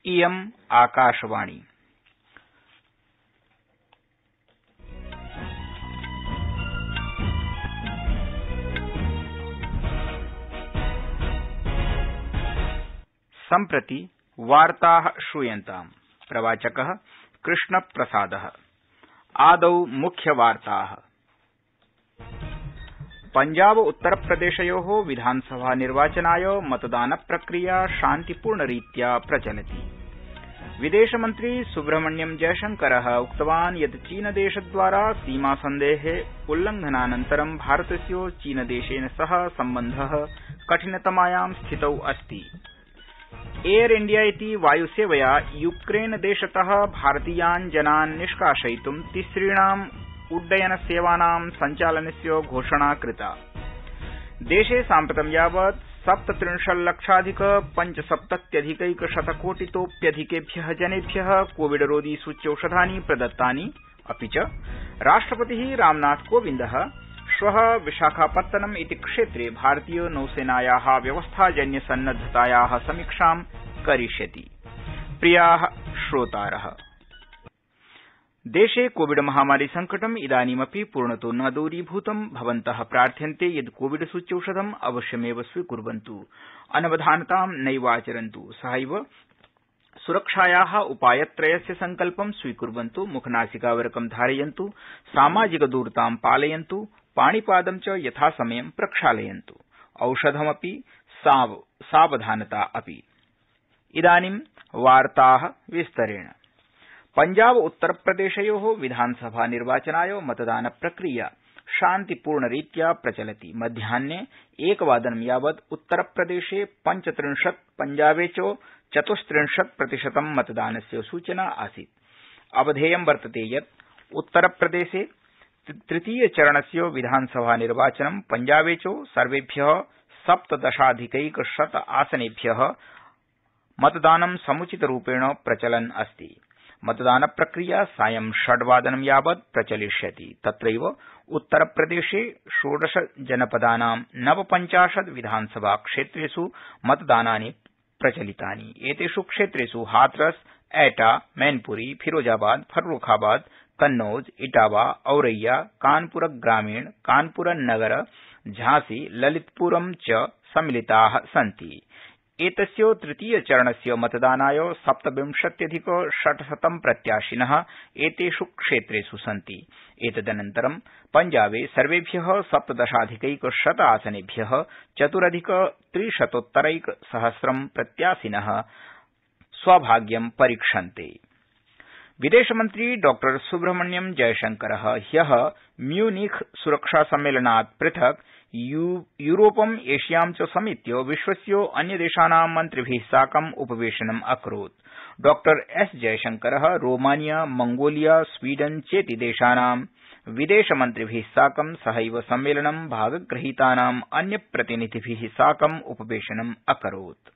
इयम् आकाशवाणी। सम्प्रति वार्ताः श्रूयन्ताम्। प्रवाचकः कृष्णप्रसादः। आदौ मुख्यवार्ताः। पंजाब उत्तरप्रदेशयोः विधानसभा निर्वाचनाय मतदानप्रक्रिया शान्तिपूर्णरीत्या प्रचलति। विदेशमन्त्री सुब्रह्मण्यम जयशंकरः उक्तवान् यत् चीनदेशद्वारा सीमासन्धेः उल्लंघनानन्तरं भारतस्य चीनदेशेन सह सम्बन्धः कठिनतमायां स्थितौ अस्ति। एयर इंडिया इति वायुसेवया यूक्रेनदेशतः भारतीयान् जनान् निष्कासयितुं तिसृणाम् उड्डयनसेवानां सञ्चालनस्य घोषणा कृता। देशे साम्प्रतं यावत् 37,00,000 पंचसप्तत्यधिकैकशतकोटितोप्यधिकेभ्यः जनेभ्यः कोविडरोधि सूच्यौषधानि प्रदत्तानि। अपि च राष्ट्रपतिः रामनाथ कोविन्दः श्वः विशाखापत्तनम इति क्षेत्रे भारतीय नौसेनायाः व्यवस्थाजन्य सन्नद्धतायाः समीक्षां करिष्यति। प्रियाः श्रोतारः, देशे कोविड महामारी संकटम् इदानीमपि पूर्णतो न दूरीभूतं। भवन्तः प्रार्थ्यन्ते यत् कोविड सूच्यौषधम् अवश्यमेव स्वीकुर्वन्तु, अनवधानतां नैवाचरन्तु, सहैव सुरक्षायाः उपायत्रयस्य सङ्कल्पं स्वीकुर्वन्तु, मुखनासिकावरकं धारयन्तु, सामाजिकदूरतां पालयन्तु, पाणिपादं च यथासमयं प्रक्षालयन्तु, औषधमपि सावधानता अपि। इदानीं वार्ताः विस्तरेण। पंजाब उत्तरप्रदेशयोः विधानसभा निर्वाचनाय मतदानप्रक्रिया शान्तिपूर्णरीत्या प्रचलति। मध्याह्ने 1:00 यावत् उत्तरप्रदेशे 35, पंजाबे च 34% मतदानस्य सूचना आसीत्। अवधेयं वर्तते यत् उत्तरप्रदेशे तृतीयचरणस्य विधानसभा निर्वाचनं पंजाबे च सर्वेभ्यः 17,000 आसनेभ्यः मतदानं समुचितरूपेण प्रचलन् अस्ति। मतदानप्रक्रिया सायं 6:00 यावत् प्रचलिष्यति। तत्रैव उत्तरप्रदेशे 16 जनपदानां 49 विधानसभा क्षेत्रेष् मतदानानि प्रचलितानि। एतेष् क्षेत्रेष् हाथरस, एटा, मैनपुरी, फिरोजाबाद, फर्रुखाबाद, कन्नौज, इटावा, औरैया, कानपुर ग्रामीण, कानपुर नगर, झांसी, ललितपुरं च सम्मिलिताः सन्ति। एतस्य तृतीयचरणस्य मतदानाय 27,600 प्रत्याशिनः एतेष् क्षेत्रेष् सन्ति। एतदनन्तरं पंजाबे सर्वेभ्यः 17,000 आसनेभ्यः 4,300 प्रत्याशिनः स्वभाग्यं परीक्षन्ते। विदेशमन्त्री डॉ सुब्रह्मण्यम जयशंकरः ह्यः म्यूनिख सुरक्षासम्मेलनात् पृथक् यूरोपम् एशियां च समेत्य विश्वस्य अन्यदेशानां मन्त्रिभिः साकम् उपवेशनम् अकरोत्। डॉ एस जयशंकरः रोमानिया, मंगोलिया, स्वीडन चेति देशानां विदेशमन्त्रिभिः साकं सहैव सम्मेलनं भागगृहीतानाम् अन्यप्रतिनिधिभिः साकम् उपवेशनम् अकरोत्।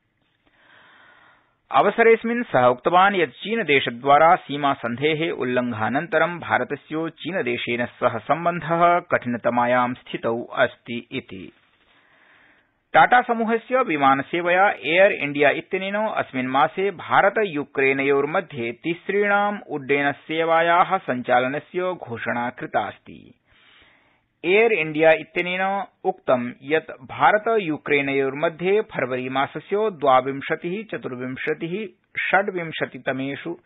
अवसरेऽस्मिन् सः उक्तवान् यत् चीनदेशद्वारा सीमासन्धेः उल्लंघनानन्तरं भारतस्य चीनदेशेन सह सम्बन्धः कठिनतमायां स्थितौ अस्ति इति। टाटा समूहस्य विमानसेवया एयर इंडिया इत्यनेन अस्मिन् मासे भारत यूक्रेनयोर्मध्ये तिसृणाम् उड्डयनसेवायाः सञ्चालनस्य घोषणा कृतास्ति। एयर इंडिया इत्यनेन उक्तं यत् भारत यूक्रेनयोर्मध्ये फरवरीमासस्य 22, 24, 26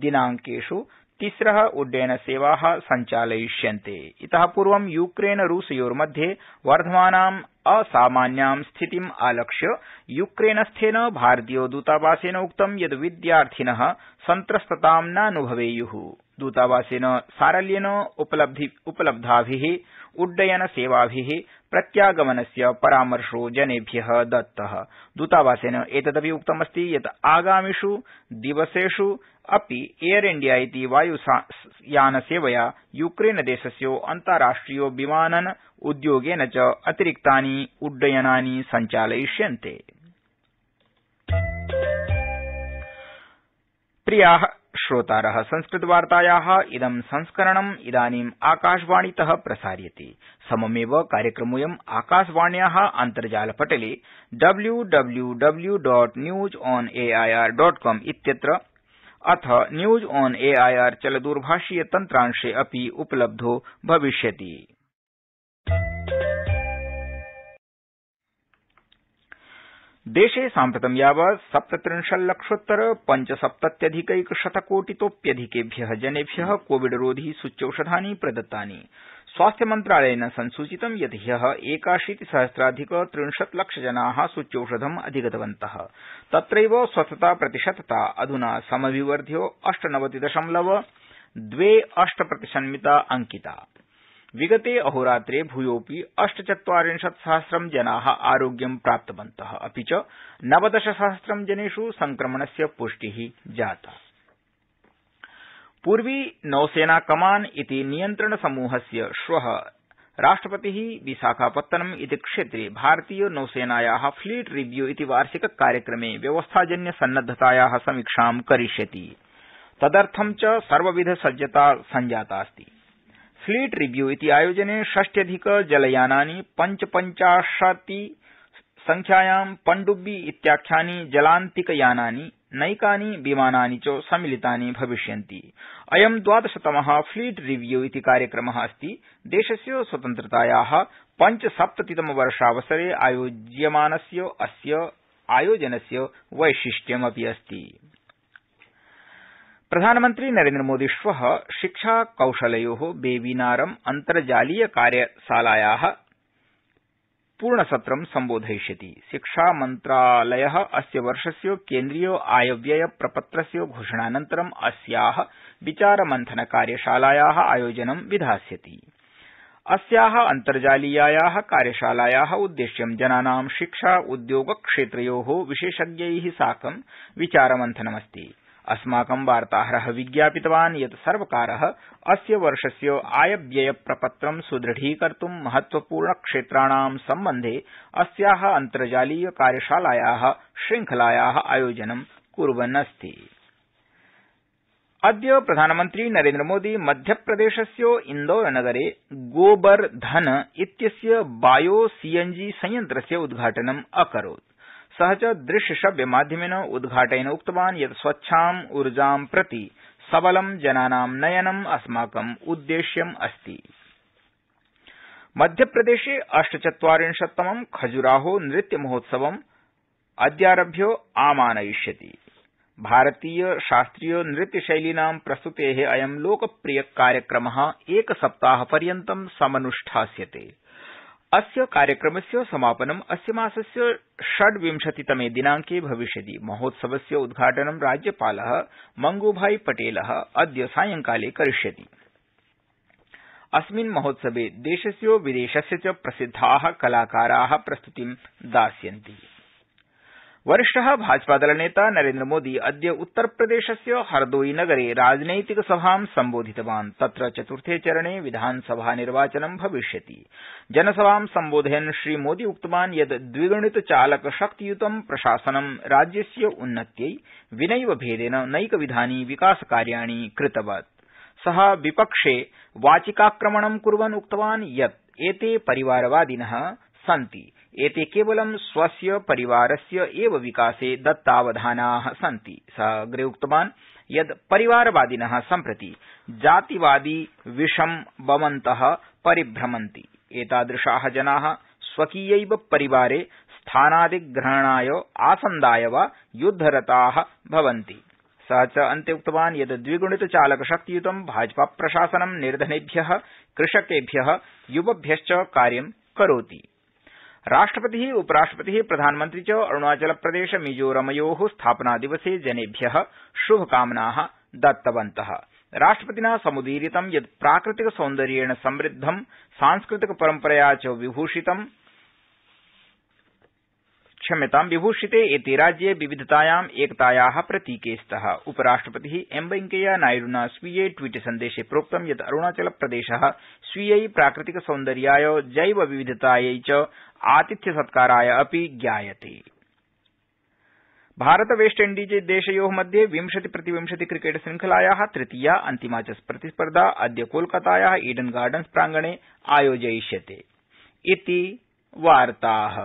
दिनांकेष् तिस्रः उड्डयनसेवाः सञ्चालयिष्यन्ते। इतः पूर्वं यूक्रेन रूसयोर्मध्ये वर्धमानाम् असामान्यां स्थितिम् आलक्ष्य यूक्रेनस्थेन भारतीय दूतावासेन उक्तं यत् विद्यार्थिनः सन्त्रस्ततां नानुभवेयुः। दूतावासेन सारल्येन उपलब्धाभिः उड्डयनसेवाभिः प्रत्यागमनस्य परामर्शो जनेभ्यः दत्तः। दूतावासेन एतदपि उक्तमस्ति यत् आगामिष् दिवसेष् अपि एयर इंडिया इति वायुयानसेवया यूक्रेनदेशस्य अन्ताराष्ट्रिय विमानन उद्योगेन च अतिरिक्तानि उड्डयनानि सञ्चालयिष्यन्ते। प्रियाः श्रोतारः संस्कृतवार्तायाः इदं संस्करणम् इदानीम् आकाशवाणीतः प्रसार्यते। सममेव कार्यक्रमोऽयम् आकाशवाण्याः अन्तर्जालपटले www.newsonair.com इत्यत्र अथ न्यूज ऑन एआईआर चलदूरभाषीय तन्त्रांशे अपि उपलब्धो भविष्यति। देशे साम्प्रतं यावत् 37,लक्षोत्तर-570,000,000 जनेभ्यः कोविडरोधि सूच्यौषधानि प्रदत्तानि। स्वास्थ्यमन्त्रालयेन संसूचितं यत् ह्यः 81,000,000-63 जनाः सूच्यौषधम् अधिगतवन्तः। तत्रैव स्वस्थताप्रतिशतता अधुना समभिवर्ध्य 98.28% अंकिता। विगते अहोरात्रे भूयोऽपि 48,000,000 जनाः आरोग्यं प्राप्तवन्तः, अपि च 19,000 जनेष् संक्रमणस्य पुष्टिः जाता। पूर्वी नौसेना कमान इति नियन्त्रण समूहस्य श्वः राष्ट्रपतिः विशाखापत्तनम इति क्षेत्रे भारतीय नौसेनायाः फ्लीट रिव्यू इति वार्षिक कार्यक्रमे व्यवस्थाजन्य सन्नद्धतायाः समीक्षां करिष्यति। तदर्थं च सर्वविध सज्जता सञ्जातास्ति। फ्लीट रिव्यू इति आयोजने 60 जलयानानि 55 संख्यायां पण्डुब्बी इत्याख्यानि जलान्तिकयानानि नैकानि विमानानि च सम्मिलितानि भविष्यन्ति। अयं 12तमः फ्लीट रिव्यू इति कार्यक्रमः अस्ति। देशस्य स्वतन्त्रतायाः 75तमवर्षावसरे आयोज्यमानस्य अस्य आयोजनस्य वैशिष्ट्यमपि अस्ति। प्रधानमन्त्री नरेन्द्रमोदी श्वः शिक्षा कौशलयोः वेबिनारम् अन्तर्जालीय कार्यशालायाः पूर्णसत्रं सम्बोधयिष्यति। शिक्षामन्त्रालयः अस्य वर्षस्य केन्द्रीय आयव्यय प्रपत्रस्य घोषणानन्तरं अस्याः विचारमन्थन कार्यशालायाः आयोजनं विधास्यति। अस्याः अन्तर्जालीयायाः कार्यशालायाः उद्देश्यं जनानां शिक्षा उद्योगक्षेत्रयोः विशेषज्ञैः साकं विचारमन्थनमस्ति। अस्माकं वार्ताहरः विज्ञापितवान् यत् सर्वकारः अस्य वर्षस्य आयव्ययप्रपत्रं सुदृढीकर्तुं महत्वपूर्णक्षेत्राणां सम्बन्धे अस्याः अन्तर्जालीय कार्यशालायाः श्रृंखलायाः आयोजनं कुर्वन् अस्ति। अद्य प्रधानमन्त्री नरेन्द्रमोदी मध्यप्रदेशस्य इन्दौरनगरे गोबर्धन इत्यस्य बायो सीएनजी संयन्त्रस्य उद्घाटनम् अकरोत्। सः च दृश्यश्रव्यमाध्यमेन उद्घाटयन् उक्तवान् यत् स्वच्छाम् ऊर्जां प्रति सबलं जनानां नयनम् अस्माकम् उद्देश्यम् अस्ति। मध्यप्रदेशे 48तमं खजुराहो नृत्यमहोत्सवम् अद्यारभ्य आमानयिष्यति। भारतीय शास्त्रीय नृत्यशैलीनां प्रस्तुतेः अयं लोकप्रिय कार्यक्रमः एकसप्ताहपर्यन्तं समनुष्ठास्यते। अस्य कार्यक्रमस्य समापनम् अस्य मासस्य 26तमे दिनांके भविष्यति। महोत्सवस्य उद्घाटनं राज्यपालः मंगूभाई पटेलः अद्य सायंकाले करिष्यति। अस्मिन् महोत्सवे देशस्य विदेशस्य च प्रसिद्धाः कलाकाराः प्रस्तुतिं दास्यन्ति। वरिष्ठः भाजपादलनेता नरेन्द्रमोदी अद्य उत्तरप्रदेशस्य हरदोई नगरे राजनैतिक सभां सम्बोधितवान्। तत्र चतुर्थे चरणे विधानसभानिर्वाचनं भविष्यति। जनसभां सम्बोधयन् श्रीमोदी उक्तवान् यत् द्विगुणितचालकशक्तियुतं प्रशासनं राज्यस्य उन्नत्यै विनैव भेदेन नैकविधानि विकासकार्याणि कृतवत्। सः विपक्षे वाचिकाक्रमणं कुर्वन् उक्तवान् यत् एते परिवारवादिनः सन्ति। एते केवलं स्वस्य परिवारस्य एव विकासे दत्तावधानाः सन्ति। सः अग्रे उक्तवान् यत् परिवारवादिनः सम्प्रति जातिवादी विषं वमन्तः परिभ्रमन्ति। एतादृशाः जनाः स्वकीयैव परिवारे स्थानादिग्रहणाय आसन्दाय वा युद्धरताः भवन्ति। सः च अन्ते उक्तवान् यत् द्विगुणितचालकशक्तियुतं भाजपाप्रशासनं निर्धनेभ्यः, कृषकेभ्यः, युवभ्यश्च कार्यं करोति। राष्ट्रपतिः, उपराष्ट्रपतिः, प्रधानमन्त्री च अरुणाचलप्रदेश मिजोरमयोः स्थापनादिवसे जनेभ्यः शुभकामनाः दत्तवन्तः। राष्ट्रपतिना समुदीरितं यत् प्राकृतिकसौन्दर्येण समृद्धं, सांस्कृतिकपरम्परया च विभूषिते एते राज्ये विविधतायाम् एकतायाः प्रतीके स्तः। उपराष्ट्रपतिः एम वेंकैया नायड्ना स्वीये ट्वीट सन्देशे प्रोक्तं यत् अरुणाचलप्रदेशः स्वीयै प्राकृतिकसौन्दर्याय, जैवविविधतायै च आतिथ्यसत्काराय अपि ज्ञायते। भारत वेस्टइण्डीजदेशयो मध्ये 20-20 क्रिकेट श्रृंखलाया तृतीया अन्तिमा च प्रतिस्पर्धा अद्य कोलकाताया ईडन गार्डन्स प्रांगणे आयोजयिष्यते। इति वार्ताः।